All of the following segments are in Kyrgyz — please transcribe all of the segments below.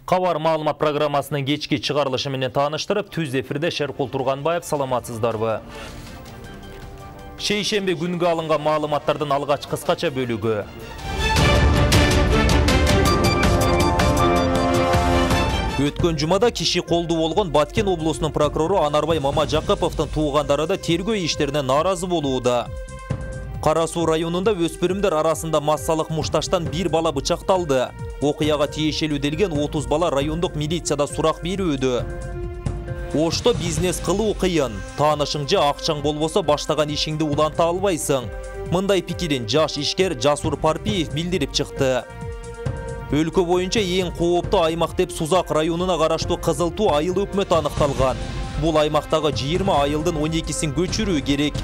Кабар маалымат программасынын кечки чыгарылышы менен тааныштырып, түз эфирде Шеркул Турганбаев, саламатсыздарбы? Шейшембе күнгө алынган маалыматтардын алгач кыскача бөлүгү. Өткөн жумада киши колду болгон Баткен облусунун прокурору Анарбай Мамажакыповдун туугандары да тергөө иштерине нааразы болууда. Кара Суу районунда өспүрүмдөр арасында массалык мушташтан бир бала бычакталды. Окуяга тиешелүү делген 30 бала райондук милицияда сурак берүүдө. Ошто бизнес кылуу кыйын. Таанышың акчаң болбосо баштаган ишиңди уланта албайсың. Мындай пикирин жаш ишкер Жасур Парпиев билдирип чыкты. Өлкө боюнча эң кооптуу аймак деп Сузак районуна караштуу Кызыл Туу айыл өкмөтү аныкталган. Бул аймактагы 20 айылдын 12син көчүрүү керек.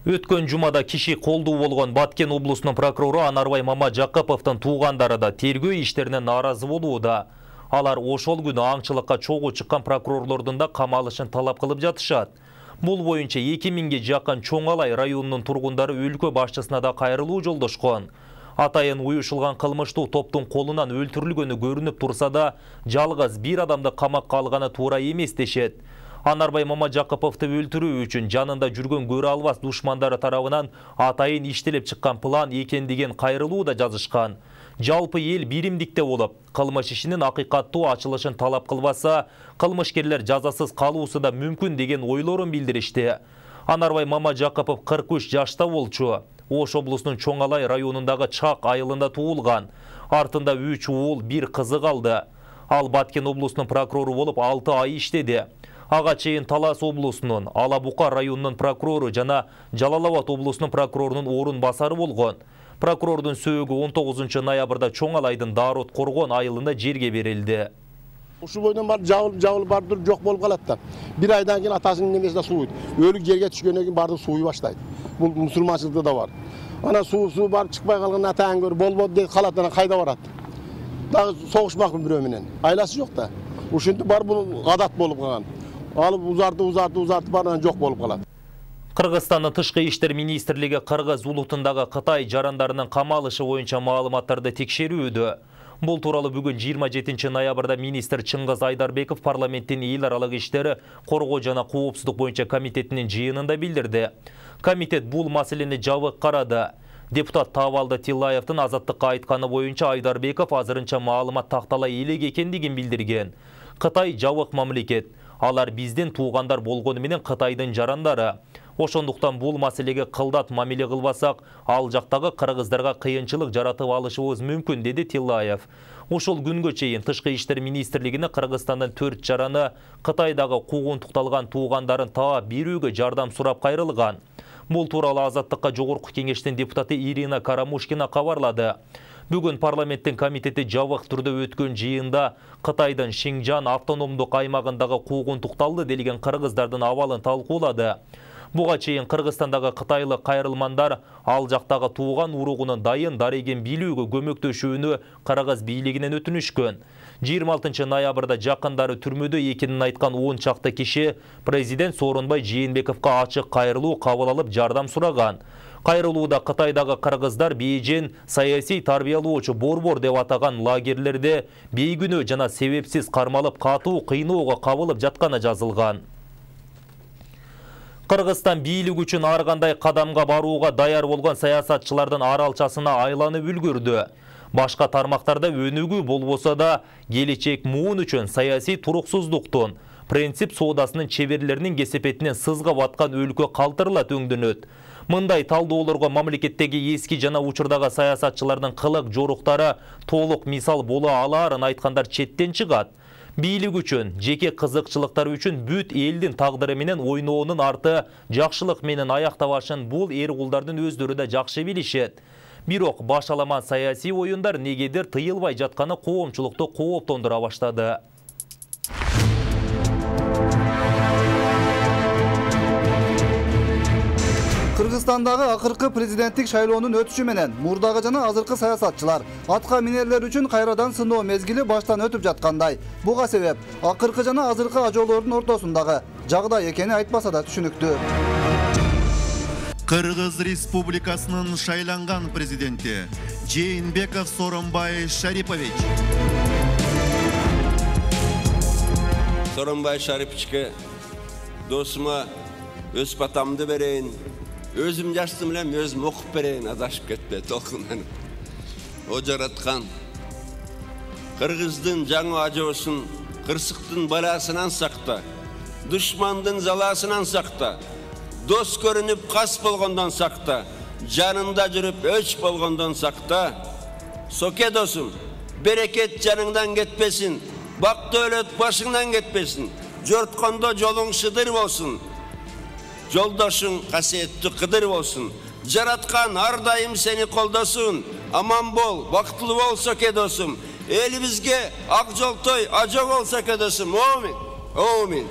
Өткөн жумада киши колдуу болгон Баткен облусунун прокурору Анарбай Мамажакыповдун туугандары да тергөө иштерине нааразы болууда. Алар ошол күнү аңчылыкка чогуу чыккан прокурорлордун да камалышын талап кылып жатышат. Бул боюнча 2000ге жакын Чоңалай районунун тургундары өлкө башчысына да кайрылуу жолдошкон. Атайын уюшулган кылмыштуу топтун колунан өлтүрүлгөнү көрүнүп турса да, жалгыз бир адамды камакка алганы туура эмес дешет. Анарбай Мамажакыповду өлтүрүү үчүн жанында жүргөн көрө албас душмандары тарабынан атайын иштелип чыккан план экендигин кайрылуу да жазышкан. Жалпы эл биримдикте болуп, кылмыш ишинин акыйкаттуу ачылышын талап кылбаса, кылмышкерлер жазасыз калуусу да мүмкүн деген ойлорун билдиришти. Анарбай Мамажакыпов 43 жашта болчу. Ош облусунун Чоңалай районундагы Чак айылында туулган. Артында 3 уул, 1 кызы калды. Ал Баткен облусунун прокурору болуп 6 ай иштеди. Ага чейин Талас облусунун, Алабука районунун прокурору жана Жалал Абад облусунун прокурорунун орун басары болгон. Прокурордун сөөгү 19 ноябрда Чоңалайдын Дарот Коргон айылында жерге берилди. Ушул бойдон бар жабыл бардыр жок болуп калат да. Бир айдан кийин атасынын немесине сууйт. Өлүк жерге түшкөндөн кийин бардыр сууй баштайт. Бул мусулманчылыкта да бар. Ана суу барып чыкпай калган атаң көр болбоду деп калат, ана кайда барат? Дагы согушмакмын бирөө менен. Айласы жок да. Ушинтип бар бул адат болуп калган. Алып узартып барынан жок болуп калат. Кыргызстандын тышкы иштер министрлиги Кыргыз улутундагы Кытай жарандарынын камалышы боюнча маалыматтарды текшерүүдө. Бул тууралуу бүгүн 27 ноябрда министр Чыңгыз Айдарбеков парламенттин эл аралык иштери коргоо жана коопсуздук боюнча комитетинин жыйынында билдирди. Комитет бул маселени жабык карады. Депутат Тавалды Тилаевдин Азаттыкка айтканы боюнча Айдарбеков азырынча маалымат такталай элек экендигин билдирген. Кытай жабык мамлекет. Алар биздин туугандар болгону менен Кытайдын жарандары. Ошондуктан бул маселеге кылдат мамиле кылбасак, ал жактагы кыргыздарга кыйынчылык жаратып алышыбыз мүмкүн, деди Тилаев. Ушул күнгө чейин Тышкы иштер министрлигине Кыргызстандын 4 жараны Кытайдагы куугунтукталган туугандарын таап берүүгө жардам сурап кайрылган. Бул тууралуу Азаттыкка жогорку кеңештин депутаты Ирина Карамушкина кабарлады. Бүгүн парламенттин комитети жабык түрдө өткөн жыйында Кытайдын Шинжан автономдук аймагындагы куугунтукталды делген кыргыздардын абалын талкуулады. Буга чейин Кыргызстандагы кытайлык кайрылмандар ал жактагы тууган уругунун дайын дареген билүүгө көмөктөшүүнү Кыргыз бийлигинен өтүнүшкөн. 26 ноябрда жакындары түрмөдө экенин айткан 10 чакты киши президент Сооронбай Жээнбековго ачык кайрылуу кабыл алып жардам сураган. Кайрылууда Кытайдагы кыргыздар бейжен саясий тарбиялоочу борбор деп атаган лагерлерде бейгүнөө жана себепсиз кармалып катуу кыйноого кабылып жатканы жазылган. Кыргызстан бийлик үчүн ар кандай кадамга барууга даяр болгон саясатчылардын аралчасына айланып үлгүрдү. Башка тармактарда өнүгүү болбосо да, келечек муун үчүн саясий туруксуздуктун, принцип соодасынын чеберлеринин кесепетинен сызга баткан өлкө калтырыла төңдөнөт. Мындай талдоолорго мамлекеттеги эски жана учурдагы саясатчылардын кылык жоруктары толук мисал боло алаарын айткандар четтен чыгат. Бийлик үчүн, жеке кызыкчылыктары үчүн бүт элдин тагдыры менен ойноонун арты жакшылык менен аяктабашын бул эр-кулдардын өздөрү да жакшы билишет. Бирок башаламан саясий оюндар негедир тыйылбай жатканы коомчулукту кооптондура баштады. Кыргызстандагы акыркы президенттик шайлоонун өтүшү менен мурдагы жана азыркы саясатчылар атка минерлер үчүн кайрадан сыноо мезгили баштан өтүп жаткандай. Буга себеп акыркы жана азыркы ажоолордун ортосундагы жагдай экени айтпаса да түшүнүктүү. Кыргыз Республикасынын шайланган президенти Жээнбеков Сооронбай Шарипович. Сооронбай Шариповичке досума өз батамды берейин, өзүм жаштым элем, өзүм окуп берейин, адашып кетпе толкундан. О жараткан Кыргыздын жаңы ажоосун кырсыктын баласынан сакта, душмандын заласынан сакта, дос көрүнүп кас болгондон сакта, жанында жүрүп өч болгондон сакта. Соке досум, берекет жаныңдан кетпесин, бак дөөлөт башыңдан кетпесин, жорткондо жолуң шыдыр болсун, жолдошуң касиеттүү кыдыр болсун. Жараткан ар дайым сени колдосун, аман бол, бактылуу бол Соке досум. Элибизге ак жолтой ажо бол Соке досум. Амин. Амин.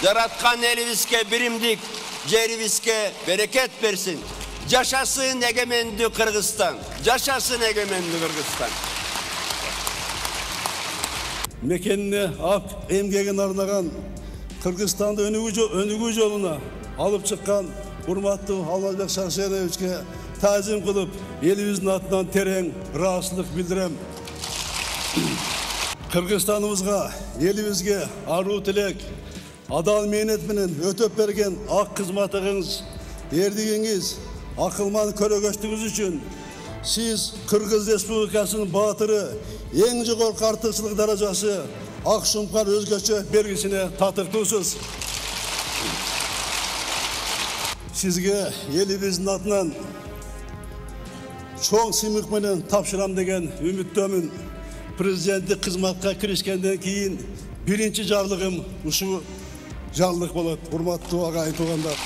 Жараткан элибизге биримдик, жерибизге берекет берсин. Жашасын эгемендүү Кыргызстан. Жашасын эгемендүү Кыргызстан. Мекенине ак эмгегин арнаган Кыргызстанды өнүгүү жолуна алып чыккан урматтуу Алмазбек Шаршеновичке таазим кылып, элибиздин атынан терең ыраазычылык билдирем. Кыргызстаныбызга, элибизге аруу тилек, адал мээнет менен өтөп берген ак кызматыңыз, эрдигиңиз, акылман көрөгөчтүгүңүз үчүн сиз Кыргыз Республикасынын баатыры, эң жогорку артыкчылык даражасы ак шумкар өзгөчө белгисине татыктуусуз. Сизге элибиздин атынан чоң сыймык менен тапшырам деген үмүттөмүн. Президенттик кызматка киришкенден кийин биринчи жарлыгым ушул жарлык болот. Урматтуу агайын туугандар.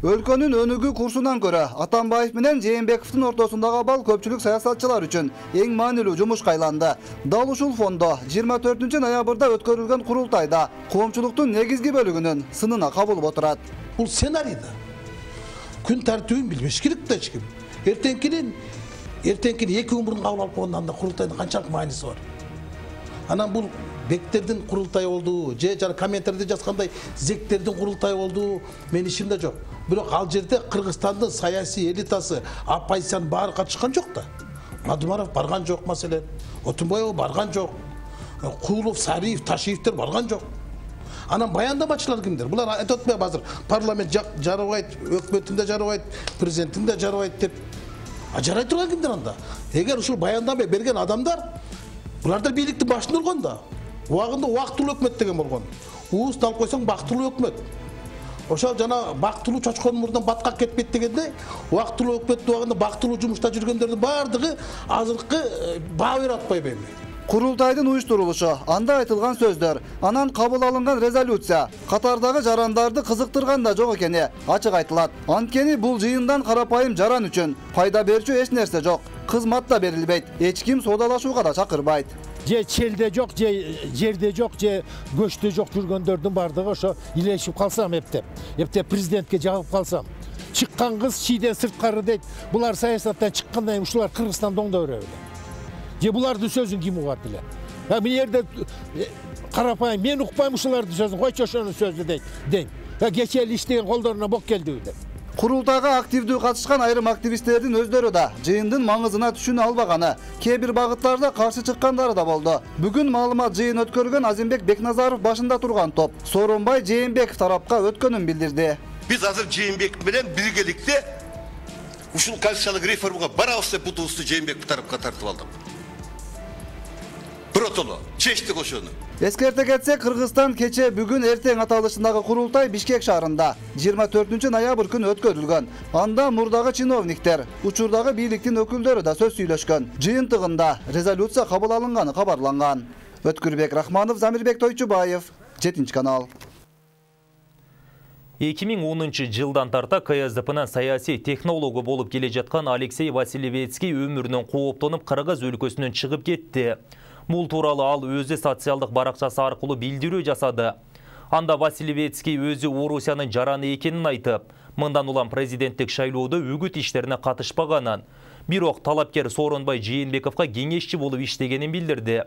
Өлкөнүн өнүгүү курсунан көрө Атамбаев менен Жээнбековдун ортосундагы абал көпчүлүк саясатчылар үчүн эң маанилүү жумушка айланды. Дал ушул фондо 24 ноябрда өткөрүлгөн курултайда коомчулуктун негизги бөлүгүнүн сынына кабылып отурат. Бул сценарийда күн тартибин билбеш керек да эч ким. Эртеңкини 2 күн мурун кабыл алып койгондон анда курултайдын канчалык мааниси бар. Анан бул бектердин курултайы болду, же жана комментарийде жазгандай зектердин курултайы болду, менин ишимде жок. Бирок ал жерде Кыргызстандын саясий элитасы, оппозициянын баары катышкан жок да. Мадумаров барган жок маселен, Отунбаев барган жок, Куулов, Сариев, Ташиевдер барган жок. Анан баяндамачылар кимдер? Булар айтып атпайбы азыр парламент жарабайт, өкмөтүндө жарабайт, президентинде жарабайт деп. Жарай турган кимдер анда? Эгер ушул баяндама берген адамдар буларда бийликтин башында болгон да. Убагында убактылуу өкмөт деген болгон. Ууз алып койсоң бактылуу өкмөт. Ошол жана бактылуу чочкон мурдан баткак кетпейт дегенде, убактылуу өкмөттүн убагында бактылуу жумушта жүргөндөрдүн баардыгы азыркы баа берип атпайбы эми? Курултайдын уюштурулушу, анда айтылган сөздөр, анан кабыл алынган резолюция катардагы жарандарды кызыктырган да жок экени ачык айтылат. Анткени бул жыйындан карапайым жаран үчүн пайда берчү эч нерсе жок. Кызмат да берилбейт, эч ким соодалашууга да чакырбайт. Же челде жок, же жерде жок, же көчтө жок жүргөндөрдүн бардыгы ошо илешип калсам эптеп президентке жагып калсам. Чыккан кыз чийден сырткары дейт. Булар саясаттан чыккандан кийин ушулар Кыргызстанда оңдой береби. Же булардын сөзүн ким угат эле? Мен жерде карапайым, мен укпайм ушулардын сөзүн, койчу ошонун сөзү дейм. Кече эле иштеген колдоруна бок келдиби деп. Курултайга активдүү катышкан айрым активисттердин өздөрү да жыйындын маңызына түшүнө албаганы, кээ бир багыттарда каршы чыккандары да болду. Бүгүн маалымат жыйын өткөргөн Азимбек Бекназаров башында турган топ Сооронбай Жээнбеков тарапка өткөнүн билдирди. Биз азыр Жээнбеков менен биргеликте ушул конституциялык реформага барабыз деп бутубузду Жээнбеков тарапка тартып алдык. Биротоло чечтик ошону. Эскерте кетсек, Кыргызстан кече бүгүн эртең аталышындагы курултай Бишкек шаарында 24 ноябрь күнү өткөрүлгөн. Анда мурдагы чиновниктер, учурдагы бийликтин өкүлдөрү да сөз сүйлөшкөн. Жыйынтыгында резолюция кабыл алынганы кабарланган. Өткүрбек Рахманов, Замирбек Тойчубаев, 7-канал. 2010 жылдан тарта КСДПнын саясий технологу болуп келе жаткан Алексей Васильевецкий өмүрүнөн кооптонуп Кыргыз өлкөсүнөн чыгып кетти. Бул тууралуу ал өзү социалдык баракчасы аркылуу билдирүү жасады. Анда Васильевецкий өзү Орусиянын жараны экенин айтып, мындан улам президенттик шайлоодо үгүт иштерине катышпаганын, бирок талапкер Сооронбай Жээнбековго кеңешчи болуп иштегенин билдирди.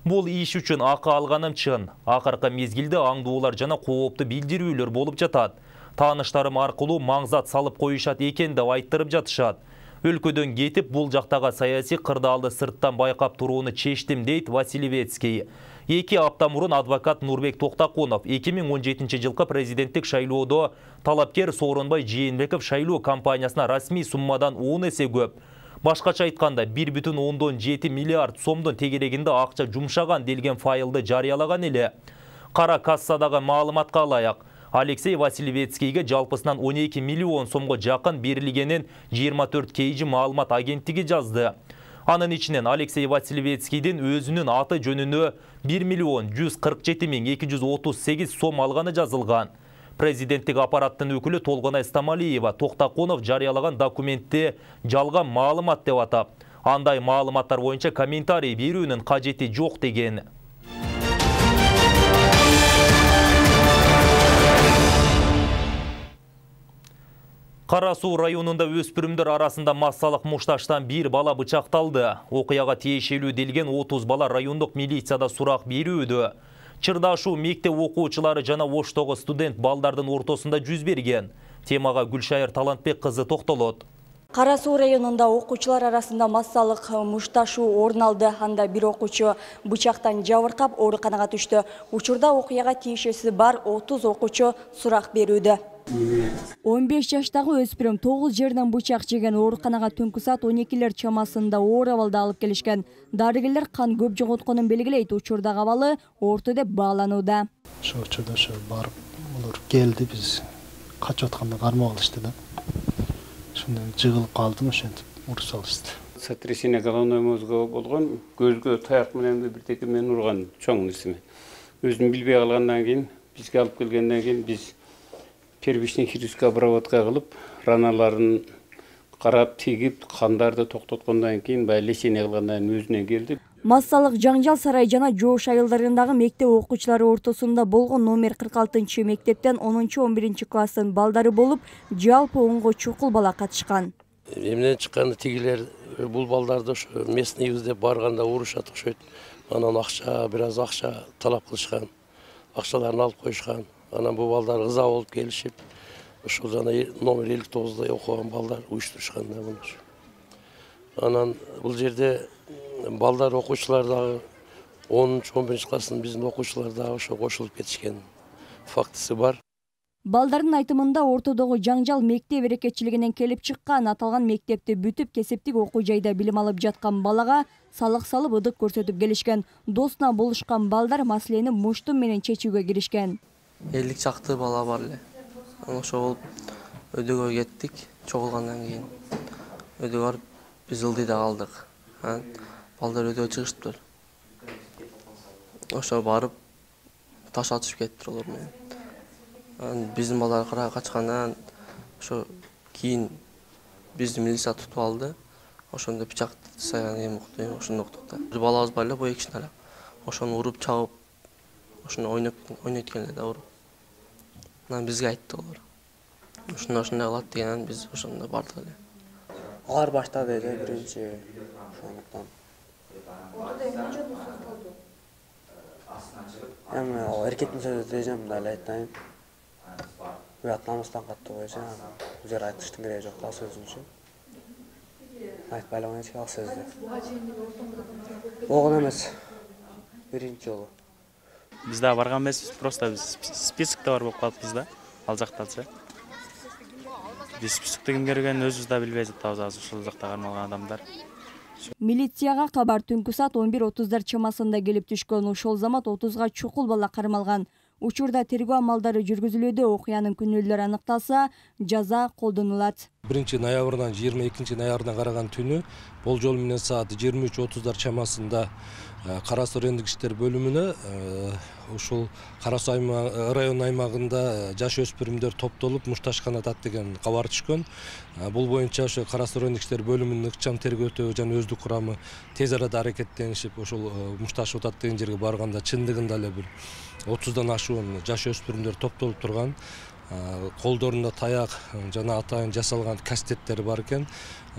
Бул иш үчүн акы алганым чын. Акыркы мезгилде аңдуулар жана кооптуу билдирүүлөр болуп жатат. Тааныштарым аркылуу маңзат салып коюшат экен деп айттырып жатышат. Өлкөдөн кетип, бул жактагы саясий кырдаалды сырттан байкап турууну чечтим, дейт Васильевецкий. 2 апта мурун адвокат Нурбек Токтакунов 2017 жылкы президенттик шайлоодо талапкер Сооронбай Жээнбеков шайлоо кампаниясына расмий суммадан 10 эсе көп. Башкача айтканда 1,7 миллиард сомдун тегерегинде акча жумшаган делген файлды жарыялаган эле. Кара кассадагы маалыматка алаяк. Алексей Васильевецкийге жалпысынан 12 миллион сомго жакын берилгенин 24 KG маалымат агенттиги жазды. Анын ичинен Алексей Васильевецкийдин өзүнүн аты жөнүнө 1,147,238 сом алганы жазылган. Президенттик аппараттын өкүлү Толгонай Стамалиева Токтакунов жарыялаган документти жалган маалымат деп атап, андай маалыматтар боюнча комментарий берүүнүн кажети жок деген. Кара Суу районунда өспүрүмдөр арасында массалык мушташтан бир бала бычакталды. Окуяга тиешелүү делген 30 бала райондук милицияда сурак берүүдө. Чырдашуу мектеп окуучулары жана Оштогу студент балдардын ортосунда жүз берген. Темага Гүлшайыр Талантбек кызы токтолот. Кара Суу районунда окуучулар арасында массалык мушташуу орун алды. Анда бир окуучу бычактан жабыркап ооруканага түштү. Учурда окуяга тиешеси бар 30 окуучу сурак берүүдө. 15 жаштагы өспүрүм 9 жерден бычак жеген, ооруканага түнкү саат 12лер чамасында оор абалда алып келишкен. Дарыгерлер кан көп жоготконун белгилейт. Учурдагы абалы орто деп бааланууда. Ошо учурда барып булар келди, биз качып атканда кармап алышты да. Шундан жыгылып калдым, ошентип уруп салышты. Сотрясение головной мозга болгон, көзгө таяк менен бирдеке мени урган чоң нерсеме. Өзүм билбей калгандан кийин, бизге алып келгенден кийин биз первичный хирургическая обработка кылып, раналарын карап, тигип, кандарды токтоткондон кийин баягы лечение кылгандан кийин өзүнө келди. Массалык жаңжал сарай жана Жоош айылдарындагы мектеп окуучулары ортосунда болгон номер 46 мектептен 10-11 класстын балдары болуп, жалпы 10 чукул бала катышкан. Эмнен чыкканды тигилер бул балдарды ошо местныйбыз деп барганда урушат окшойт. Анан бир аз акча талап кылышкан. Акчаларын алып коюшкан. Анан бул балдар ыза болуп келишип, ошол жана номер 59да окуган балдар уюштурушкан да муну. Анан бул жерде балдар окуучулар дагы 10-11 класстын биздин окуучулар дагы ошо кошулуп кетишкен фактысы бар. Балдардын айтымында ортодогу жаңжал мектеп берекетчилигинен келип чыккан. Аталган мектепти бүтүп кесиптик окуу жайда билим алып жаткан балага салык салып ыдык көрсөтүп келишкен. Досуна болушкан балдар маселени муштум менен чечүүгө киришкен. 50 чакты бала бар эле. Ошо болуп өйдөгө кеттик. Чогулгандан кийин өйдөгө барып биз ылдыйда калдык. Балдар өйдөгө чыгышыптыр. Ошо барып таш атышып кетиптир алар менен. Биздин балдар кырага качкандан ошо кийин бизди милиция тутуп алды. Ошондо пычак сайган эми укту, ошондо уктук да. Балабыз бар эле, бу эки кишини эле. Ошону уруп чабып, ошону ойнойткөн эле да уруп. Анан бизге айтты алар. Ошондой кылат дегенен биз ошондо бардык эле. Алар баштады эле биринчи ошондуктан. Эми ал эркектин сөзү дежем эле айтайын. Уят намыстан каттуу бойчу, бул жер айтыштын кереги жок да сөзүнчө. Айтпай эле койчу ал сөздү. Болгон эмес. Биринчи жолу. Биз да барган эмеспиз, просто биз списокто бар болуп калыппыз да, ал жактачы. Биз списокто кимге киргенин өзүбүз да билбей жатабыз, азыр ушул жакта кармалган адамдар. Милицияга кабар түнкү саат 11:30 чамасында келип түшкөн. Ошол замат 30га чукул бала кармалган. Учурда тергөө амалдары жүргүзүлүүдө. Окуянын күнөөлөрү аныкталса, жаза колдонулат. 1-ноябрдан 22-ноябрдан караган түнү болжол менен саат 23:30 чамасында Кара Суу райондук иштер бөлүмүнө ушул Кара Суу район аймагында жаш өспүрүмдөр топтолуп мушташкан атат деген кабар түшкөн. Бул боюнча ошо Кара Суу райондук иштер бөлүмүнүн ыкчам тергөөтөө жана өздүк курамы тез арада аракеттенишип ошол мушташып атат деген жерге барганда чындыгында эле бир 30дан ашуун жаш өспүрүмдөр топтолуп турган. Колдорунда таяк жана атайын жасалган кастеттери бар экен.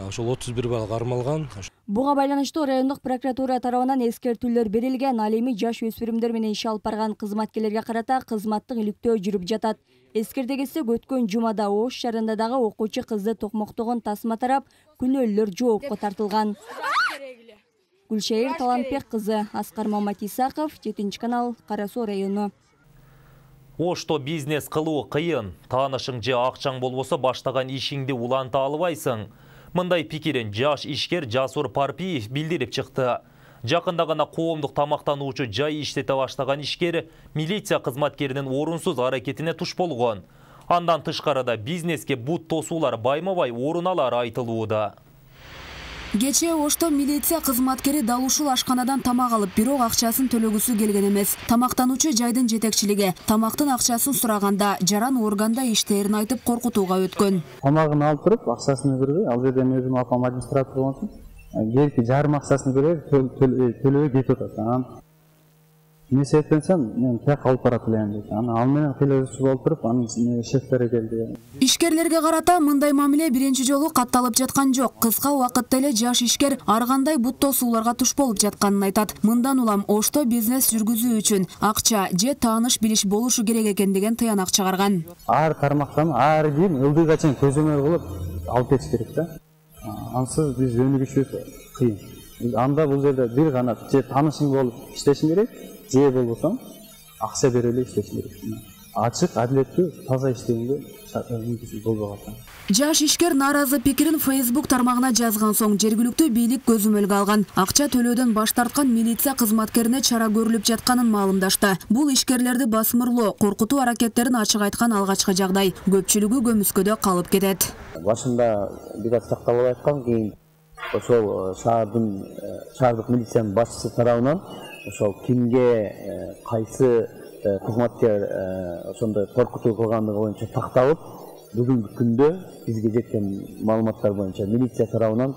Ошол 31 бала кармалган. Буга байланыштуу райондук прокуратура тарабынан эскертүүлөр берилген. Ал эми жаш өспүрүмдөр менен иш алып барган кызматкерлерге карата кызматтык иликтөө жүрүп жатат. Эскерте кетсек, өткөн жумада Ош шаарында дагы окуучу кызды токмоктогон тасма тарап, күнөөлөр жоопко тартылган. Гүлшайыр Талантбек кызы, Аскар Маматисаков, 7 канал, Кара Суу району. Ошто бизнес кылуу кыйын. Таанышың же акчаң болбосо баштаган ишиңди уланта албайсың. Мындай пикирин жаш ишкер Жасур Парпиев билдирип чыкты. Жакында гана коомдук тамактануучу жай иштете баштаган ишкер милиция кызматкеринин орунсуз аракетине туш болгон. Андан тышкарыда бизнеске бут тосуулар байма-бай орун алары айтылууда. Кечээ Ошто милиция кызматкери дал ушул ашканадан тамак алып, бирок акчасын төлөгүсү келген эмес. Тамактануучу жайдын жетекчилиги тамактын акчасын сураганда жаран органда иштээрин айтып коркутууга өткөн. Тамагын алып туруп, акчасын бербей, ал жерде өзүм апам администратор болсун. Келки жарым акчасын берип, төлөбөй кетип атат. Не себептен мен так алып барат элем дейт. Ал менен келесип болуп туруп, анын шефтери келди. Ишкерлерге карата мындай мамиле биринчи жолу катталып жаткан жок. Кыска убакытта эле жаш ишкер ар кандай бут тосууларга туш болуп жатканын айтат. Мындан улам Ошто бизнес жүргүзүү үчүн акча же тааныш билиш болушу керек экен деген тыянак чыгарган. Ар тармактан ар ким ылдыйга чейин көзөмөл кылып алып кетиш керек да. Ансыз биз өнүгүшүбүз кыйын. Анда бул жерде бир гана же таанышың болуп иштешиң керек, же болбосо акча берип эле иштешиң керек. Ачык, адилеттүү, таза иштегенге мүмкүнчүлүк болбой калат. Жаш ишкер нааразы пикирин Facebook тармагына жазган соң жергиликтүү бийлик көзөмөлгө алган. Акча төлөөдөн баш тарткан милиция кызматкерине чара көрүлүп жатканын маалымдашты. Бул ишкерлерди басмырлоо, коркутуу аракеттерин ачык айткан алгачкы жагдай. Көпчүлүгү көмүскөдө калып кетет. Башында бир аз такталып айткан, кийин ошол шаардык милициянын башчысы тарабынан ошол кимге кайсы кызматкер ошондой коркутуу кылгандыгы боюнча такталып, бүгүнкү күндө бизге жеткен маалыматтар боюнча милиция тарабынан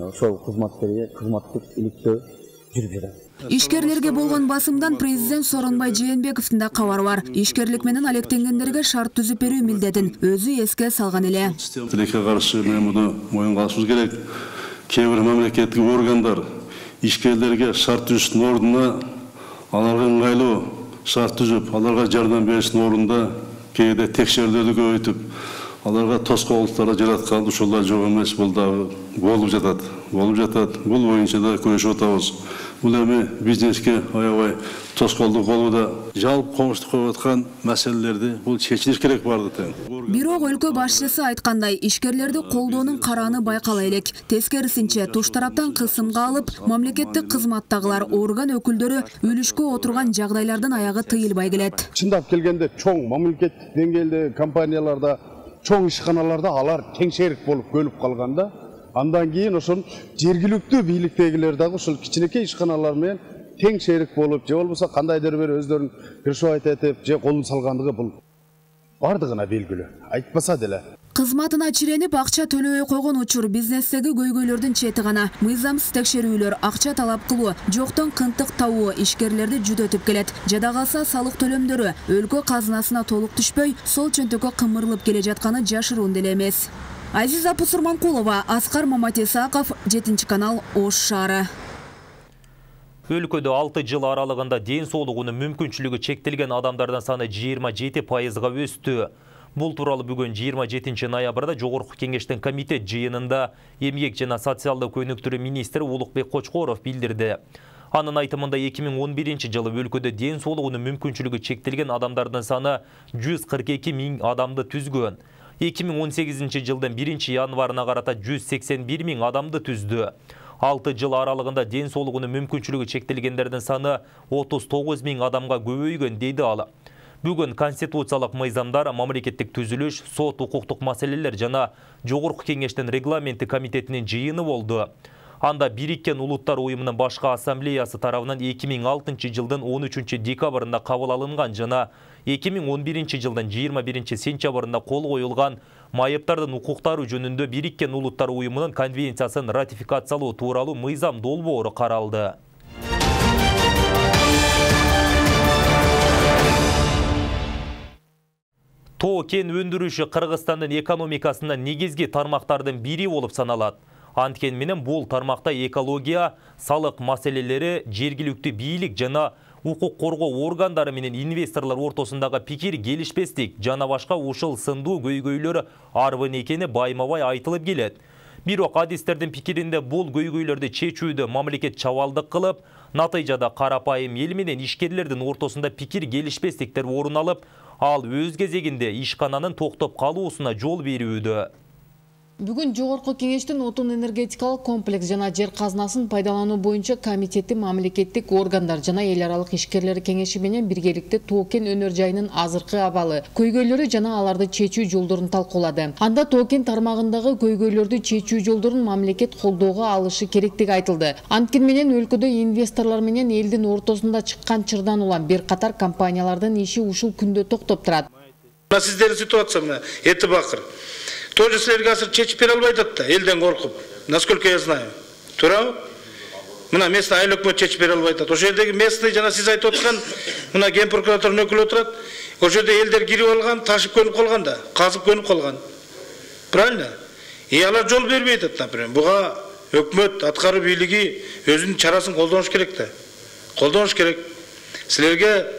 ошол кызматкерге кызматтык иликтөө жүрүп жатат. Ишкерлерге болгон басымдан президент Сооронбай Жээнбековдун да кабары бар. Ишкерлик менен алектенгендерге шарт түзүп берүү милдетин өзү эске салган эле. Тилекке каршы мен муну моюнга алышыбыз керек. Кээ бир мамлекеттик органдар ишкерлерге шарт түзүштүн ордуна аларга ыңгайлуу шарт түзүп, аларга жардам бериштин ордунда кээде текшерүүлөрдү көбөйтүп, аларга тоскоолдуктарды жараткан ушулар жок эмес, бул дагы болуп жатат. Бул боюнча да күрөшүп атабыз. Бул эми бизнеске аябай тоскоолдук болууда. Жалпы комуштук коюп аткан маселелерди бул чечилиш керек барды тең. Бирок өлкө башчысы айткандай, ишкерлерди колдоонун карааны байкала элек. Тескерисинче, туш тараптан кысымга алып, мамлекеттик кызматтагылар, орган өкүлдөрү үлүшкө отурган жагдайлардын аягы тыйылбай келет. Чындап келгенде чоң мамлекеттик деңгээлде компанияларда, чоң ишканаларда алар теңшерик болуп көлүп калганда, андан кийин ошол жергиликтүү бийликтегилер дагы ошол кичинекей ишканалар менен тең шерик болуп, же болбосо кандайдыр бир өздөрүн кыршыбайт этип, же колун салгандыгы бул бардыгына белгилүү. Айтпаса деле. Кызматына чиренип акча төлөбөй койгон учур бизнестеги көйгөйлөрдүн чети гана. Мыйзамсыз текшерүүлөр, акча талап кылуу, жоктон кынтык табуу ишкерлерди жүдөтүп келет. Жада калса салык төлөмдөрү өлкө казынасына толук түшпөй, сол чөнтөккө кымырылып келе жатканы жашыруун деле эмес. Азиза Пусурманкулова, Аскар Маматисаков, 7 канал, Ош шаары. Өлкөдө 6 жыл аралыгында ден соолугунун мүмкүнчүлүгү чектелген адамдардын саны 27%га өстү. Бул тууралуу бүгүн 27 ноябрда Жогорку Кеңештин комитет жыйынында Эмгек жана социалдык өнүктүрүү министри Улукбек Кочкоров билдирди. Анын айтымында 2011 жылы өлкөдө ден соолугунун мүмкүнчүлүгү чектелген адамдардын саны 142 000 адамды түзгөн. 2018 жылдын 1 январына карата 181 000 адамды түздү. 6 жыл аралыгында ден соолугунун мүмкүнчүлүгү чектелгендердин саны 39 000 адамга көбөйгөн дейди ал. Бүгүн конституциялык мыйзамдар, мамлекеттик түзүлүш, сот укуктук маселелер жана Жогорку Кеңештин регламенти комитетинин жыйыны болду. Анда Бириккен Улуттар уюмунун башкы ассамблеясы тарабынан 2006 жылдын 13 декабрында кабыл алынган жана 2011 жылдын 21 сентябрында кол коюлган майыптардын укуктары жөнүндө Бириккен Улуттар уюмунун конвенциясын ратификациялоо тууралуу мыйзам долбоору каралды. Тоо кен өндүрүшү Кыргызстандын экономикасынын негизги тармактардын бири болуп саналат. Анткен менен бул тармакта экология, салык маселелери, жергиликтүү бийлик жана укук коргоо органдары менен инвесторлор ортосундагы пикир келишпестик жана башка ушул сындуу көйгөйлөр арбын экени байма-бай айтылып келет. Бирок адистердин пикиринде бул көйгөйлөрдү чечүүдө мамлекет чабалдык кылып, натыйжада карапайым эл менен ишкерлердин ортосунда пикир келишпестиктер орун алып, ал өз кезегинде ишкананын токтоп калуусуна жол берүүдө. Бүгүн жогорку кеңештин отун энергетикалык комплекс жана жер казынасын пайдалануу боюнча комитети мамлекеттик органдар жана эл аралык ишкерлер кеңеши менен биргеликте Тоо-Кен өнөр жайынын азыркы абалы, көйгөйлөрү жана аларды чечүү жолдорун талкуулады. Анда Тоо-Кен тармагындагы көйгөйлөрдү чечүү жолдорун мамлекет колдоого алышы керектиги айтылды. Анткени менен өлкөдө инвесторлор менен элдин ортосунда чыккан чырдан улам бир катар компаниялардын иши ушул күндө токтоп турат. Сиздердин ситуация эти бакыр. Тоже силерге азыр чечип бере албай атат да, элден коркуп. Насколько я знаю. Туурабы? Мына местный айыл өкмөт чечип бере албай атат. Ошол жердеги местный жана сиз айтып аткан мына ген прокуратурунун өкүлү отурат. Ошол жерде элдер кирип алган, ташып көнүп калган да, казып көнүп калган. Правильно? Алар жол бербей атат, например. Буга өкмөт аткаруу бийлиги өзүнүн чарасын колдонуш керек да. Колдонуш керек. Силерге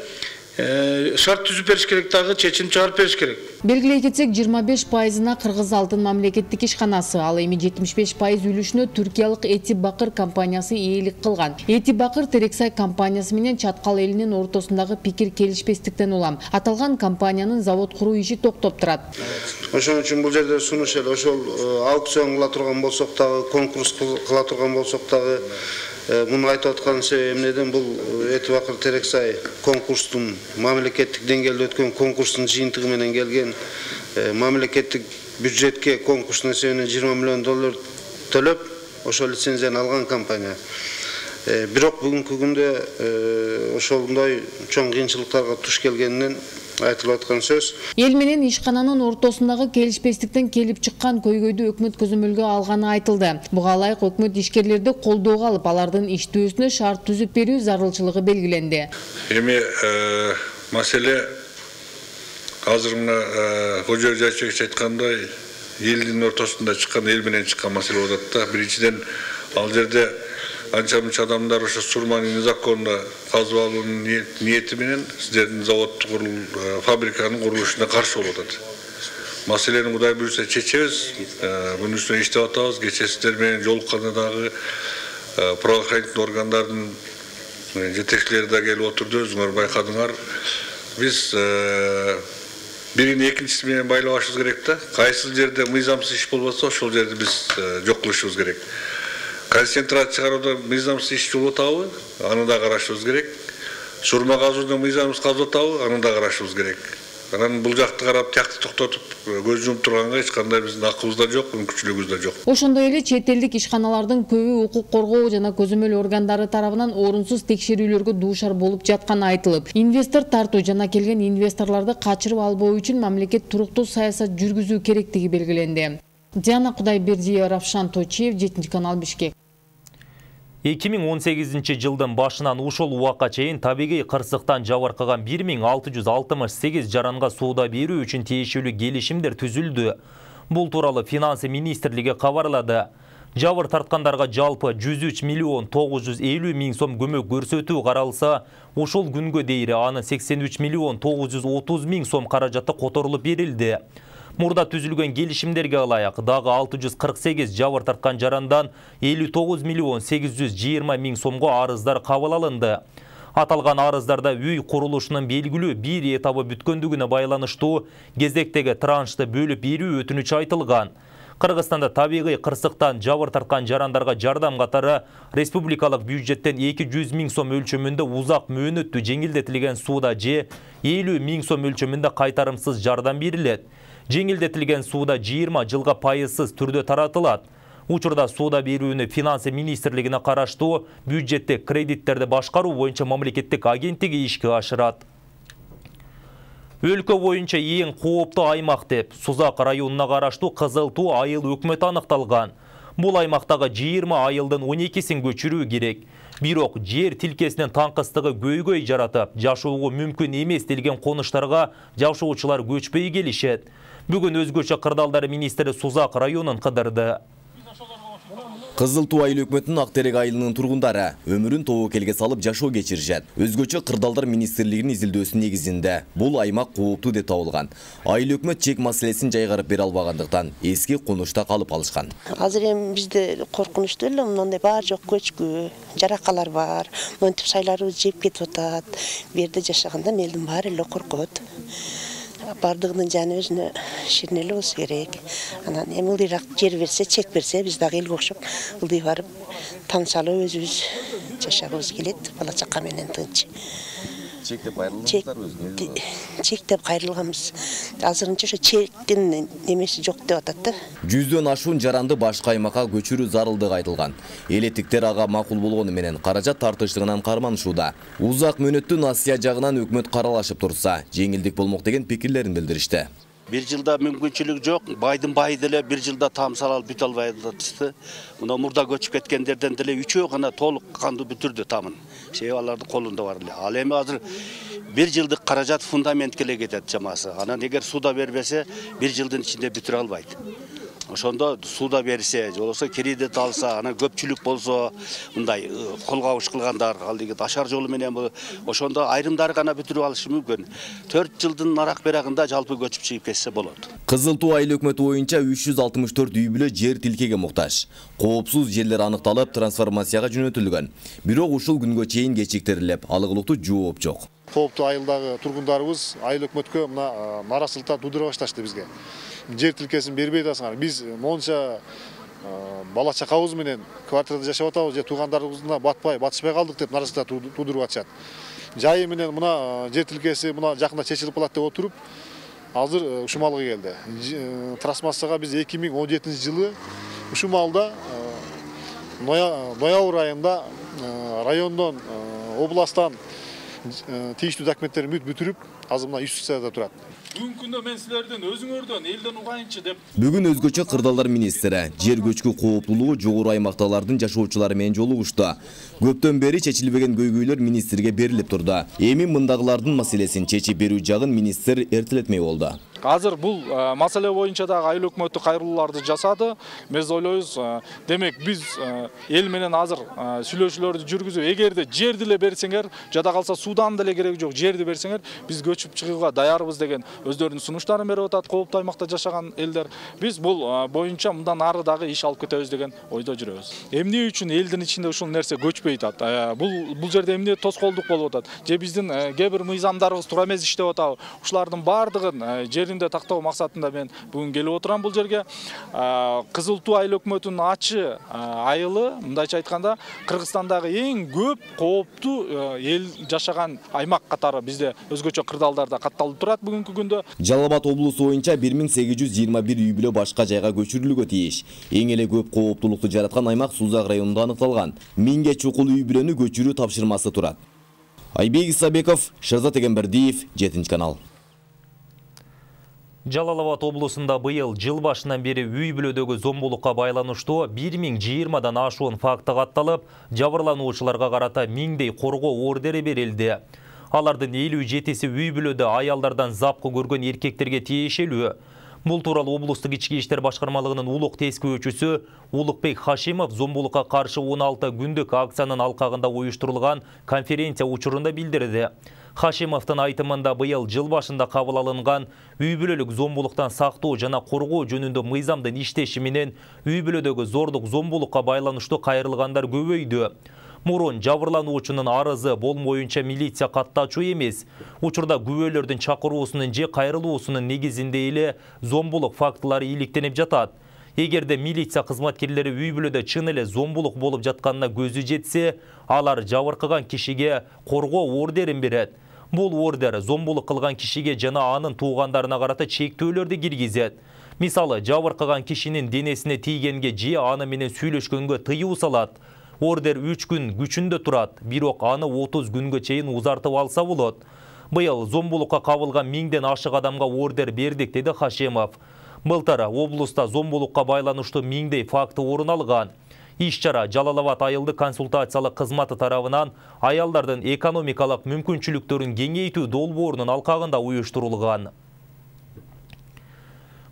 шарт түзүп бериш керек, дагы чечим чыгарып бериш керек. Белгилей кетсек, 25%-на Кыргыз алтын мамлекеттик ишканасы, ал эми 75% үлүшүнө түркиялык Эти Бакыр компаниясы ээлик кылган. Эти Бакыр Терексай компаниясы менен Чаткал элинин ортосундагы пикир келишпестиктен улам аталган компаниянын завод куруу иши токтоп турат. Ошон үчүн бул жерде сунуш эле ошол аукцион кыла турган болсок дагы, конкурс кыла турган болсок дагы, муну айтып аткан себебинен бул Эти Бакыр Терексай конкурстун мамлекеттик деңгээлде өткөн конкурстун жыйынтыгы менен келген мамлекеттик бюджетке конкурстун эсебинен $20 миллион төлөп, ошол лицензияны алган компания. Бирок бүгүнкү күндө ошондой чоң кыйынчылыктарга туш келгенинен айтылып аткан сөз. Эл менен ишкананын ортосундагы келишпестиктен келип чыккан көйгөйдү өкмөт көзөмөлгө алганы айтылды. Буга ылайык өкмөт ишкерлерди колдоого алып, алардын иштөөсүнө шарт түзүп берүү зарылчылыгы белгиленди. Эми маселе азыр мына Кожо Жайчевич айткандай, элдин ортосунда чыккан, эл менен чыккан маселе болот да. Биринчиден ал жерде анча-мынча адамдар ошо сурманы незаконно казып алуунун ниети менен сиздердин заводду фабриканын курулушуна каршы болуп атат. Маселени Кудай буйрса чечебиз, мунун үстүнө иштеп атабыз. Кечээ сиздер менен жолукканда дагы правоохранительный органдардын жетекчилери да келип отурду, өзүңөр байкадыңар. Биз бирин экинчиси менен байлабашыбыз керек да. Кайсы жерде мыйзамсыз иш болбосо, ошол жерди биз жок кылышыбыз керек. Концентрат чыгарууда мыйзамсыз иш болуп атабы, аны да карашыбыз керек. Сурма казууда мыйзамсыз казып атабы, аны да карашыбыз керек. Анан бул жакты карап, тиякты токтотуп, көз жумуп турганга эч кандай биздин акыбыз да жок, мүмкүнчүлүгүбүз да жок. Ошондой эле чет элдик ишканалардын көбү укук коргоо жана көзөмөл органдары тарабынан орунсуз текшерүүлөргө дуушар болуп жатканы айтылып, инвестор тартуу жана келген инвесторлорду качырып албоо үчүн мамлекет туруктуу саясат жүргүзүү керектиги белгиленди. Диана Кудайбердиева, Равшан Точиев, 7 канал, Бишкек. 2018 жылдын башынан ушул убакка чейин табигый кырсыктан жабыркаган 1668 жаранга сууда берүү үчүн тиешелүү келишимдер түзүлдү. Бул тууралуу Финансы министрлиги кабарлады. Жабыр тарткандарга жалпы 103 миллион 950 миң сом көмөк көрсөтүү каралса, ушул күнгө дейин анын 83 миллион 930 миң сом каражаты которулуп берилди. Мурда түзүлгөн келишимдерге ылайык дагы 648 жабыр тарткан жарандан 59 миллион 820 миң сомго арыздар кабыл алынды. Аталган арыздарда үй курулушунун белгилүү бир этабы бүткөндүгүнө байланыштуу кезектеги траншты бөлүп берүү өтүнүчү айтылган. Кыргызстанда табигый кырсыктан жабыр тарткан жарандарга жардам катары республикалык бюджеттен 200 миң сом өлчөмүндө узак мөөнөттүү жеңилдетилген сууда же 50 миң сом өлчөмүндө кайтарымсыз жардам берилет. Жеңилдетилген сууда 20 жылга пайызсыз түрдө таратылат. Учурда сууда берүүнү Финансы министрлигине караштуу бюджеттик кредиттерди башкаруу боюнча мамлекеттик агенттиги ишке ашырат. Өлкө боюнча эң кооптуу аймак деп Сузак районуна караштуу Кызыл Туу айыл өкмөтү аныкталган. Бул аймактагы 20 айылдын 12син көчүрүү керек. Бирок жер тилкесинин таңкыстыгы көйгөй жаратып, жашоого мүмкүн эмес делген конуштарга жашоочулар көчпөй келишет. Бүгүн өзгөчө кырдаалдар министри Сузак районун кыдырды. Кызыл Туу айыл өкмөтүнүн Ак Терек айылынын тургундары өмүрүн тобокелге салып жашоо кечиришет. Өзгөчө Кырдаалдар министрлигинин изилдөөсүнүн негизинде бул аймак кооптуу деп табылган. Айыл өкмөт чек маселесин жайгарып бере албагандыктан эски конушта калып алышкан. Азыр эми бизде коркунучтуу эле мындай баары жок көчкү, жаракалар бар. Монтип сайларыбыз жеп кетип атат. Бу жерде жашаганда элдин баары эле коркот. Бардыгынын жаны өзүнө ширнелүү болсо керек. Анан эми ылдыйраак жер берсе, чек берсе, биз дагы элге окшоп ылдый барып там салып өзүбүз жашагыбыз келет, бала чака менен тынч. Чектеп кайрылгансыздар өзүңүз? Чектеп кайрылганбыз. Азырынча ошо чектин немеси жок деп атат да. 100дөн ашуун жаранды башка аймакка көчүрүү зарылдыгы айтылган. Элеттиктер ага макул болгону менен каражат тартыштыгынан карманышууда. Узак мөөнөттүү насыя жагынан өкмөт каралашып турса, жеңилдик болмок деген пикирлерин билдиришти. Bir жылда мүмкүнчүлүк жок, байдын бай деле bir жылда там салып бүтө албай атышты. Мына мурда көчүп кеткендерден деле 3-өө гана толук канды бүтүрдү тамын. Алардын колунда бар эле. Ал эми азыр 1 жылдык каражат фундаментке эле кетет чамасы. Анан эгер суда бербесе 1 жылдын ичинде бүтүрө албайт. Ошондо суда берсе, болсо кредит алса, анан көпчүлүк болсо, мындай кол кабыш кылгандар, ал деги ашар жолу менен ошондо айрымдары гана бүтүрүп алышы мүмкүн. 4 жылдын арак берагында жалпы көчүп чыгып кетсе болот. Кызыл Туу айыл өкмөтү боюнча 364 үй бүлө жер тилкеге муктаж. Коопсуз жерлер аныкталып, трансформацияга жөнөтүлгөн. Бирок ушул күнгө чейин кечиктирилип, алыгылыктуу жооп жок. Кооптуу айылдагы тургундарыбыз айыл өкмөткө мына наразычылыктар туудура башташты бизге. Жер тилкесин бербей атасыңар. Биз монча бала чакабыз менен квартирада жашап атабыз, же туугандарыбыздан батышпай калдык деп наразычылыктар туудуруп атышат. Жайы менен мына жер тилкеси мына жакында чечилип калат деп отуруп, азыр ушул малга келди. Трансформацияга биз 2017-жылы ушул малда ноябрь айында райондон, областтан тийиштүү документтерин бүтүрүп, азыр мына юстицияда турат. Бүгүнкү күндө мен силерден өзүңөрдөн элден угайынчы деп. Бүгүн өзгөчө Кырдаалдар министри жер көчкү кооптуулугу жогору аймактагылардын жашоочулары менен жолугушту. Көптөн бери чечилбеген көйгөйлөр министрге берилип турду. Эми мындагылардын маселесин чечип берүү жагын министр эртелетмей болду. Азыр бул маселе боюнча дагы айыл өкмөтү кайрылууларды жасады. Биз ойлойбуз, демек биз эл менен азыр сүйлөшүүлөрдү жүргүзүп, эгерде жерди эле берсеңер, жада калса судан деле кереги жок, жерди берсеңер, биз көчүп чыгууга даярбыз деген өздөрүнүн сунуштарын берип атат кооптуу аймакта жашаган элдер. Биз бул боюнча мындан ары дагы иш алып кетебиз деген ойдо жүрөбүз. Эмне үчүн элдин ичинде ушул нерсе көчпөй атат? Бул жерде эмне тоскоолдук болуп атат? Же биздин кээ бир мыйзамдарыбыз туура эмес иштеп атабы? Ушулардын баардыгын жеринде тактоо максатында мен бүгүн келип отурам бул жерге. Кызыл Туу айыл өкмөтүнүн ачы айылы, мындайча айтканда, Кыргызстандагы эң көп кооптуу эл жашаган аймак катары бизде өзгөчө Кырдаалдарда катталып турат бүгүнкү күндө. Жалал Абад облусу боюнча 1821 үй бүлө башка жайга көчүрүлүүгө тийиш. Эң эле көп кооптуулукту жараткан аймак Сузак районунда аныкталган. 1000ге чукул үй бүлөнү көчүрүү тапшырмасы турат. Айбек Исабеков, Шерзат Эгембердиев, 7-канал. Жалал Абад облусунда быйыл жыл башынан бери үй бүлөдөгү зомбулукка байланыштуу 1020дан ашуун факты катталып, жабырлануучуларга карата 1000дей коргоо ордери берилди. Алардын 57-си үй бүлөдө аялдардан запкы көргөн эркектерге тиешелүү. Бул тууралуу облустук ички иштер башкармалыгынын улук тескөөчүсү Улукбек Хашимов зомбулукка каршы 16 күндүк акциянын алкагында уюштурулган конференция учурунда билдирди. Хашимовдун айтымында быйыл жыл башында кабыл алынган үй бүлөлүк зомбулуктан сактоо жана коргоо жөнүндө мыйзамдын иштеши менен үй бүлөдөгү зордук зомбулукка байланыштуу кайрылгандар көбөйдү. Мурун жабырлануучунун арызы болмоюнча милиция каттачу эмес. Учурда күбөлөрдүн чакыруусунун же кайрылуусунун негизинде эле зомбулук фактылары иликтенип жатат. Эгерде милиция кызматкерлери үй бүлөдө чын эле зомбулук болуп жатканына көзү жетсе, алар жабыркаган кишиге коргоо ордерин берет. Бул ордер зомбулук кылган кишиге жана анын туугандарына карата чектөөлөрдү киргизет. Мисалы, жабыркаган кишинин денесине тийгенге же аны менен сүйлөшкөнгө тыюу салат. Ордер 3 күн күчүндө турат, бирок аны 30 күнгө чейин узартып алса болот. Быйыл зомбулукка кабылган 1000ден ашык адамга ордер бердик, деди Хашимов. Былтыр облуста зомбулукка байланыштуу 1000дей факты орун алган. Иш-чара Жалал Абад айылдык консультациялык кызматы тарабынан аялдардын экономикалык мүмкүнчүлүктөрүн кеңейтүү долбоорунун алкагында уюштурулган.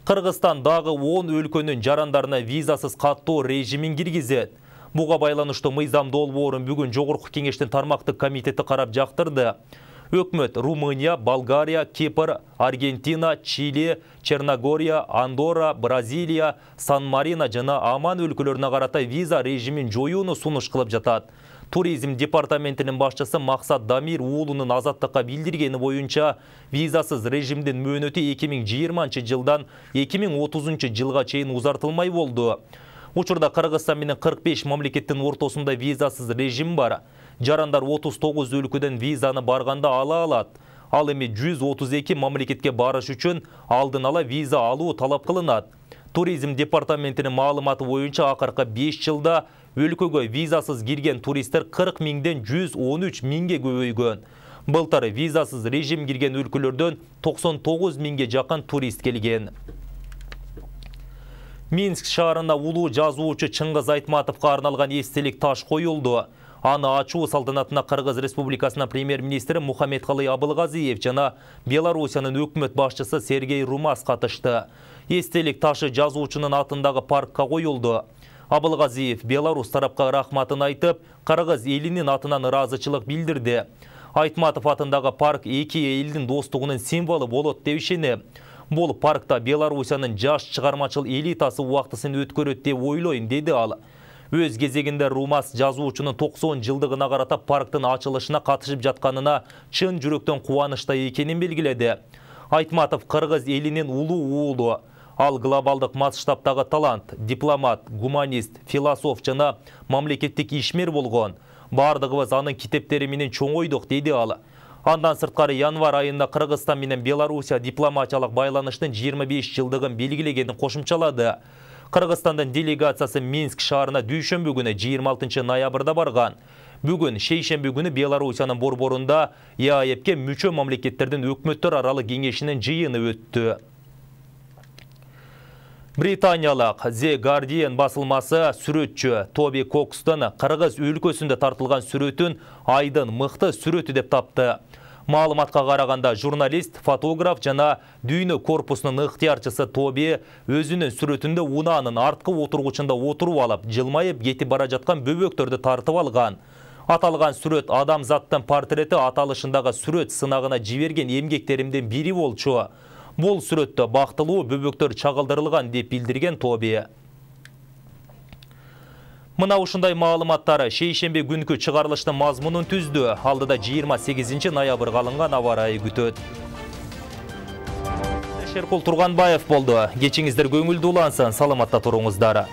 Кыргызстан дагы 10 өлкөнүн жарандарына визасыз каттоо режимин киргизет. Буга байланыштуу мыйзам долбоорун бүгүн Жогорку кеңештин тармактык комитети карап жактырды. Өкмөт Румыния, Болгария, Кипр, Аргентина, Чили, Черногория, Андорра, Бразилия, Сан-Марино жана Оман өлкөлөрүнө карата виза режимин жоюуну сунуш кылып жатат. Туризм департаментинин башчысы Максат Дамир уулунун Азаттыкка билдиргени боюнча, визасыз режимдин мөөнөтү 2020-жылдан 2030-жылга чейин узартылмай болду. Учурда Кыргызстан менен 45 мамлекеттин ортосунда визасыз режим бар. Жарандар 39 өлкөдөн визаны барганда ала алат. Ал эми 132 мамлекетке барыш үчүн алдын ала виза алуу талап кылынат. Туризм департаментинин маалыматы боюнча акыркы 5 жылда өлкөгө визасыз кирген туристтер 40 миңден 113 миңге көбөйгөн. Былтыр визасыз режим кирген өлкөлөрдөн 99 миңге жакын турист келген. Минск шаарына улуу жазуучу Чыңгыз Айтматовго арналган эстелик таш коюлду. Аны ачуу салтанатына Кыргыз Республикасынын премьер-министри Мухаммедкалый Абылгазиев жана Белоруссиянын өкмөт башчысы Сергей Румас катышты. Эстелик ташы жазуучунун атындагы паркка коюлду. Абылгазиев Беларусь тарапка рахматын айтып, Кыргыз элинин атынан ыраазычылык билдирди. Айтматов атындагы парк эки элдин достугунун символу болот деп ишенем. Бул паркта Белоруссиянын жаш чыгармачыл элитасы убактысын өткөрөт деп ойлойм, деди ал. Өз кезегинде Румас жазуучунун 90 жылдыгына карата парктын ачылышына катышып жатканына чын жүрөктөн кубанычта экенин белгиледи. Айтматов Кыргыз элинин улуу уулу. Ал глобалдык масштабтагы талант, дипломат, гуманист, философ жана мамлекеттик ишмер болгон. Бардыгыбыз анын китептери менен чоңойдук, деди ал. Андан сырткары январь айында Кыргызстан менен Белоруссия дипломатиялык байланыштын 25 жылдыгын белгилегенин кошумчалады. Кыргызстандын делегациясы Минск шаарына дүйшөмбү күнү 26 ноябрда барган. Бүгүн шейшемби күнү Белоруссиянын борборунда ЕАЭПке мүчө мамлекеттердин өкмөттөр аралык кеңешинин жыйыны өттү. Британиялык The Guardian басылмасы сүрөтчү Тоби Кокстон Кыргыз өлкөсүндө тартылган сүрөтүн айдын мыкты сүрөтү деп тапты. Маалыматка караганда журналист, фотограф жана дүйнө корпусунун ыктыярчысы Тоби өзүнүн сүрөтүндө унаанын арткы отургучунда отуруп алып, жылмайып кетип бара жаткан бөбөктөрдү тартып алган. Аталган сүрөт адамзаттын портрети аталышындагы сүрөт сынагына жиберген эмгектеримдин бири болчу. Бул сүрөттө бактылуу бөбөктөр чагылдырылган деп билдирген Тоби. Мына ушундай маалыматтары шейшемби күнкү чыгарылыштын мазмунун түздү. Алдыда 28 ноябрга алынган аба ырайы күтөт. Шеркул Турганбаев болду. Кечиңиздер көңүлдүү улансын, саламатта туруңуздар.